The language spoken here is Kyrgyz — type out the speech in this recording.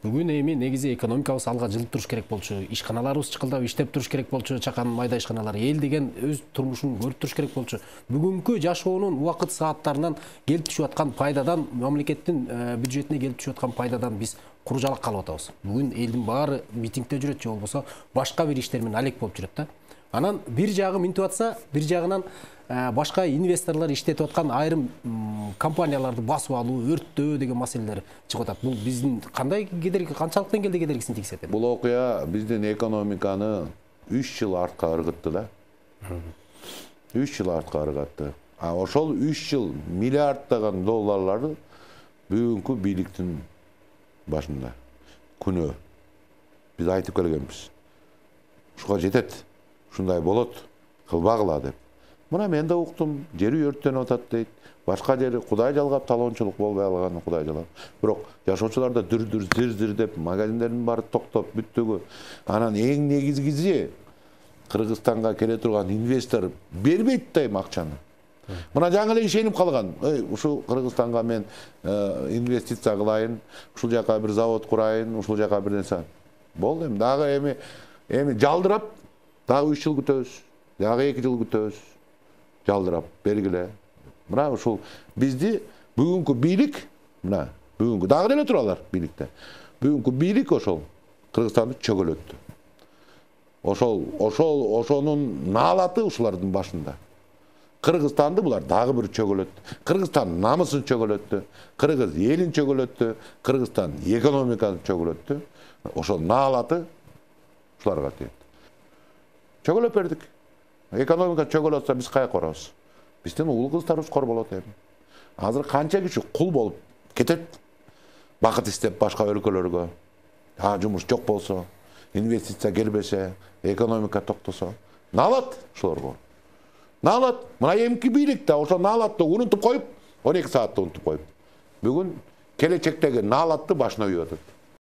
Бүгүн эми негизи экономикабыз алга жылып туруш керек болчу, ишканаларыбыз чыкылдап иштеп туруш керек болчу, чакан майда ишканалар, эл деген өз турмушун көрүп туруш керек болчу. Бүгүнкү жашоонун убакыт сааттарынан келип түшүп аткан пайдадан, мамлекеттин бюджетине келип түшүп аткан пайдадан биз куру жалак калып атабыз. Бүгүн элдин баары митингде жүрөт же болбосо башка бир иштер менен алек болуп жүрөт да. Анан бир жагы минтип атса, бир жагынан башка инвесторлор иштетип аткан айрым компанияларды басып алуу, өрттөө деген маселелер чыгып атат. Бул биздин кандай кедерги, канчалык деңгээлде кедергисин тийгизет? Бул окуя биздин экономиканы 3 жыл артка ыргытты да. 3 жыл артка ыргытты. А ошол 3 жыл миллиарддаган долларларды бүгүнкү бийликтин башында күнөө биз айтып келгенбиз. Ушуга жетет, ушундай болот, кылбагыла деп. Мына мен да уктум, жери өрттөнүп атат дейт. Башка жери Кудай жалгап талоончулук болбой алган, Кудай жалгап. Бирок жашоочуларда дүр-дүр, зир-зир деп магазиндердин баары токтоп бүттөгү. Анан эң негизгиси Кыргызстанга келе турган инвестор бербейт да эми акчаны. Мына жаңы эле ишенип калган. Ушул Кыргызстанга мен инвестиция кылайын, ушул жака бир завод курайын, ушул жака бир нерсе. Болду эми дагы эми жалдырап дагы 3 жыл күтөбүз. Дагы 2 жыл күтөбүз. Жалдырап бергиле. Мына ушул бизди бүгүнкү бийлик, мына бүгүнкү дагы деле туралар бийликте. Бүгүнкү бийлик ошол Кыргызстанды чөгөлөттү. Ошонун наалаты ушулардын башында. Кыргызстанды булар дагы бир чөгөлөттү. Кыргызстан намысын чөгөлөттү. Кыргыз элин чөгөлөттү. Кыргызстан экономикасын чөгөлөттү. Ошол наалаты ушуларга тиет. Чөгөлөп бердик. Экономика чөгөлөтсө биз каяка барабыз? Биздин уул кыздарыбыз кор болот эми. Азыр канча киши кул болуп кетет. Бакыт издеп башка өлкөлөргө. Жумуш жок болсо, инвестиция келбесе, экономика токтосо, наалат ушуларга. Наалат. Мына эмки бийлик да ошо наалатты унутуп коюп, 12 саатты унутуп коюп. Бүгүн келечектеги наалатты башына үйүп атат.